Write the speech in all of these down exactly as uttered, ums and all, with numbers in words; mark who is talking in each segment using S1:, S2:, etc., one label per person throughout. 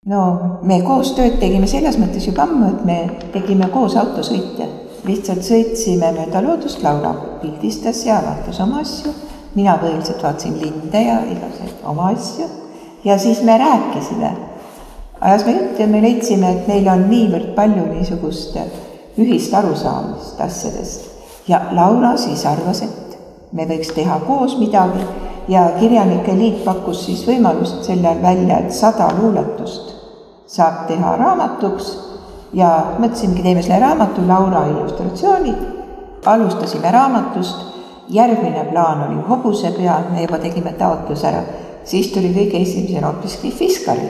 S1: No me koos tööd tegime selles mõttes juba ammu, et me tegime koos autosõitja. Lihtsalt sõitsime mööda loodust, Laura pildistas ja vaatas oma asju. Mina põhiliselt vaatasin linde ja igasuguseid oma asju. Ja siis me rääkisime. Ajas me jutt ja me leidsime, et meil on niivõrd palju niisugust ühist arusaamist asjadest. Ja Laura siis arvas, et me võiks teha koos midagi ja Kirjanike liit pakkus siis võimalust sellel välja, et sada luuletust saab teha raamatuks ja mõtlesimegi, teeme selle raamatu, Laura illustratsioonid, alustasime raamatust, järgmine plaan oli hobusepea, me juba tegime taotlus ära, siis tuli kõige esimesel hoopiski Fiskari.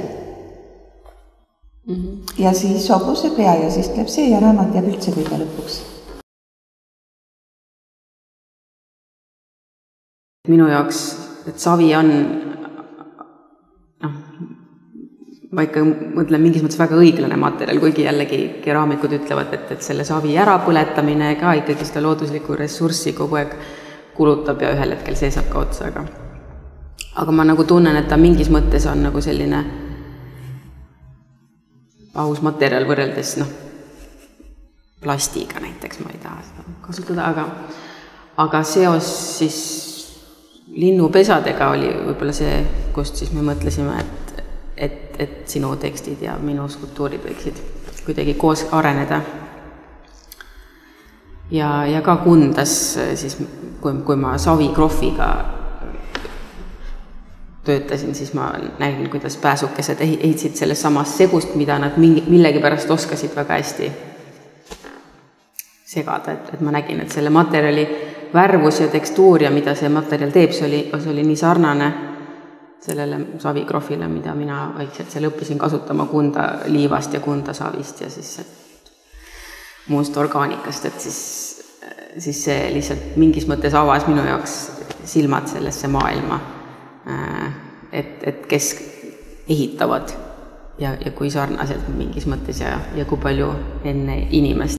S1: Mm-hmm. Ja siis hobusepea ja siis tuleb see ja raamat jääb üldse kõige lõpuks.
S2: Minu jaoks, et savi on, noh, ma ikka mõtlen mingis mõttes väga õiglane materjal, kuigi jällegi keraamikud ütlevad, et, et selle savi ärapõletamine ka ikkagi seda looduslikku ressurssi kogu aeg kulutab ja ühel hetkel see saab ka otsa, aga, aga ma nagu tunnen, et ta mingis mõttes on nagu selline aus materjal võrreldes, noh, plastiga näiteks, ma ei taha seda kasutada, aga, aga seos siis linnupesadega oli võib-olla see, kust siis me mõtlesime, et, et, et sinu tekstid ja minu skulptuurid võiksid kuidagi koos areneda. Ja, ja ka Kundas, siis, kui, kui ma Savi Krohviga töötasin, siis ma nägin, kuidas pääsukesed ehitsid selles samas segust, mida nad millegi pärast oskasid väga hästi segada, et, et ma nägin, et selle materjali värvus ja tekstuur ja mida see materjal teeb, see oli, see oli nii sarnane sellele Savi Krohvile, mida mina vaikselt seal õppisin kasutama Kunda liivast ja Kunda savist ja siis muust orgaanikast, et siis, siis see lihtsalt mingis mõttes avas minu jaoks silmad sellesse maailma, et, et kes ehitavad ja, ja kui sarnaselt mingis mõttes ja, ja kui palju enne inimest.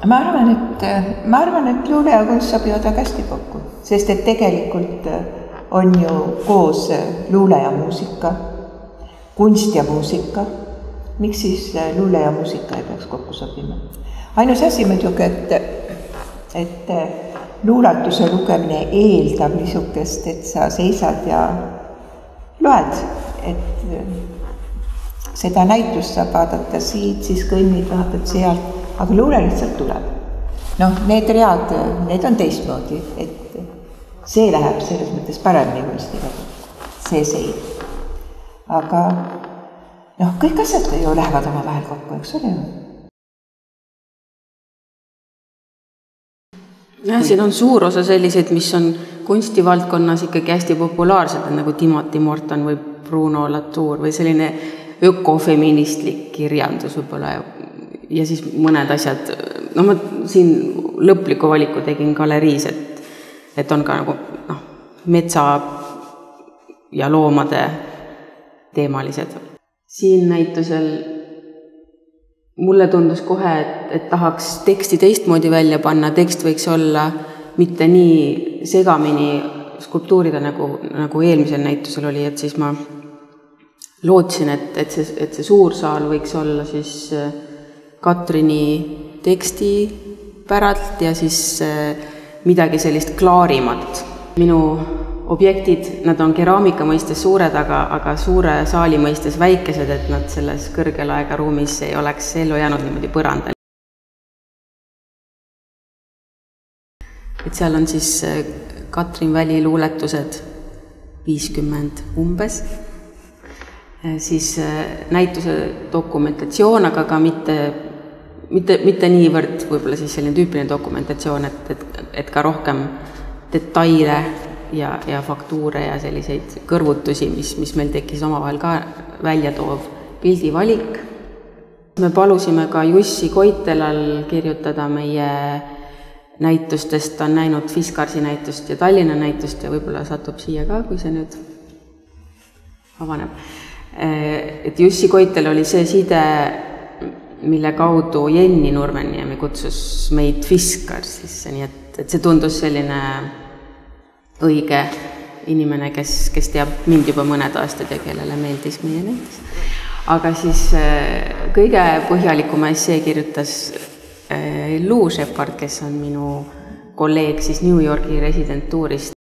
S1: Ma arvan, et, ma arvan, et luule ja kunst sobivad väga hästi kokku, sest et tegelikult on ju koos luule ja muusika, kunst ja muusika. Miks siis luule ja muusika ei peaks kokku sobima? Ainus asi muidugi, et, et luulatuse lugemine eeldab niisugust, et sa seisad ja loed, et seda näitust saab vaadata siit, siis kõnnid, vaatad sealt, aga luule lihtsalt tuleb. Noh, need read, need on teistmoodi, et see läheb selles mõttes paremini kunstiga, see seid. Aga noh, kõik asjad ju lähevad oma vahel kokku, eks ole ju?
S2: Ja, siin on suur osa selliseid, mis on kunstivaldkonnas ikkagi hästi populaarsed, nagu Timothy Morton või Bruno Latour või selline ökofeministlik kirjandus võib-olla ja siis mõned asjad, no ma siin lõpliku valiku tegin galeriis, et, et on ka nagu noh, metsa ja loomade teemalised. Siin näitusel mulle tundus kohe, et, et tahaks teksti teistmoodi välja panna, tekst võiks olla mitte nii segamini skulptuurida, nagu, nagu eelmisel näitusel oli, et siis ma lootsin, et, et, see, et see suur saal võiks olla siis Katrini teksti päralt ja siis midagi sellist klaarimat. Minu objektid, nad on keraamika mõistes suured, aga, aga suure saali mõistes väikesed, et nad selles kõrgelaega ruumis ei oleks ellu jäänud niimoodi põrandal. Et seal on siis Katrin Väli luuletused viiskümmend umbes, siis näituse dokumentatsioon, aga ka mitte Mitte, mitte niivõrd võib-olla siis selline tüüpiline dokumentatsioon, et, et, et ka rohkem detaile ja, ja faktuure ja selliseid kõrvutusi, mis, mis meil tekkis omavahel ka välja toov pildivalik. Me palusime ka Jussi Koitelal kirjutada meie näitustest, ta on näinud Fiskarsi näitust ja Tallinna näitust ja võib-olla satub siia ka, kui see nüüd avaneb. Et Jussi Koitel oli see side, mille kaudu Jenni Nurmeniemi kutsus meid Fiskar sisse, nii et, et see tundus selline õige inimene, kes, kes teab mind juba mõned aastad ja kellele meeldis meie näitus. Aga siis kõige põhjalikuma essee kirjutas Lou Shepard, kes on minu kolleeg siis New Yorgi residentuurist.